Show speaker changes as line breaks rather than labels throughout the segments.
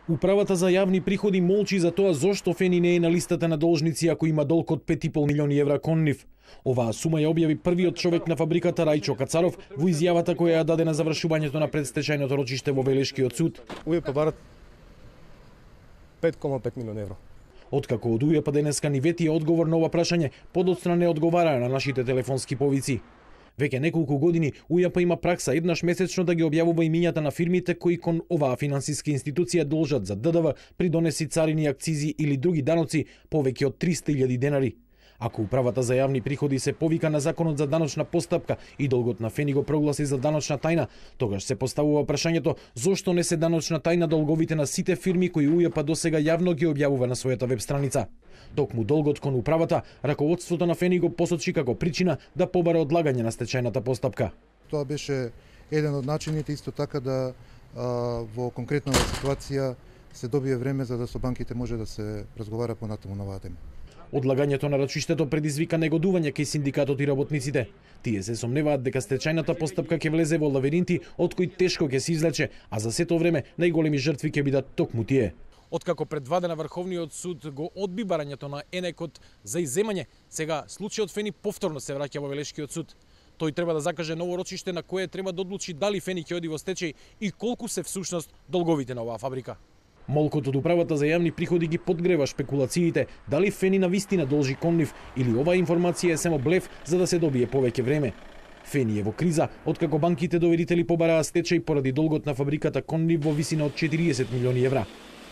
Управата за јавни приходи молчи за тоа зошто Фени не е на листата на должници ако има долг од 5,5 милиони евра кон нив. Оваа сума ја објави првиот човек на фабриката Рајчо Кацаров во изјавата која ја даде на завршувањето на предстечајното рочиште во Велешкиот суд.
УЈП барат 5,5 милиони евра.
Откако од УЈП денеска ни вети одговор на ова прашање, подоцна не одговараа на нашите телефонски повици. Веќе неколку години УЈП има пракса еднаш месечно да ги објавува имињата на фирмите кои кон оваа финансиска институција должат за ДДВ, придонеси, царини, акцизи или други даноци повеќе од 300.000 денари. Ако управата за јавни приходи се повика на законот за даночна постапка и долгот на Фени го прогласи за даночна тајна, тогаш се поставува прашањето зошто не се даночна тајна долговите на сите фирми кои УЈП досега јавно ги објавува на својата веб страница. Токму долгот кон управата, раководството на Фени го посочи како причина да побара одлагање на стечајната постапка.
Тоа беше еден од начините исто така да во конкретна ситуација се добие време за да со банките може да се разговара понатаму на оваа тема.
Одлагањето на рачиштето предизвика негодување кај синдикатот и работниците. Тие се сомневаат дека стечајната постапка ќе влезе во лавиринти од кои тешко ќе се излече, а за сето време најголеми жртви ќе бидат токму тие. Откако предвадена Врховниот суд го одби барањето на ЕНЕКот за изземање, сега случајот Фени повторно се враќа во Велешкиот суд. Тој треба да закаже ново рочиште на кое треба да одлучи дали Фени ќе оди во стечај и колку се всушност долговите на оваа фабрика. Молкот од управата за јавни приходи ги подгрева шпекулациите дали Фени навистина должи кон нив или оваа информација е само блеф за да се добие повеќе време. Фени е во криза откако банките доверители побараа стечај поради долгот на фабриката кон нив во висина од 40 милиони евра.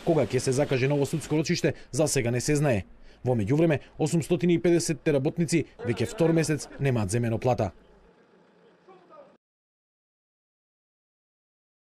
Кога ќе се закаже ново судско рочиште, за сега не се знае. Во меѓувреме, 850 работници веќе втор месец немаат земено плата.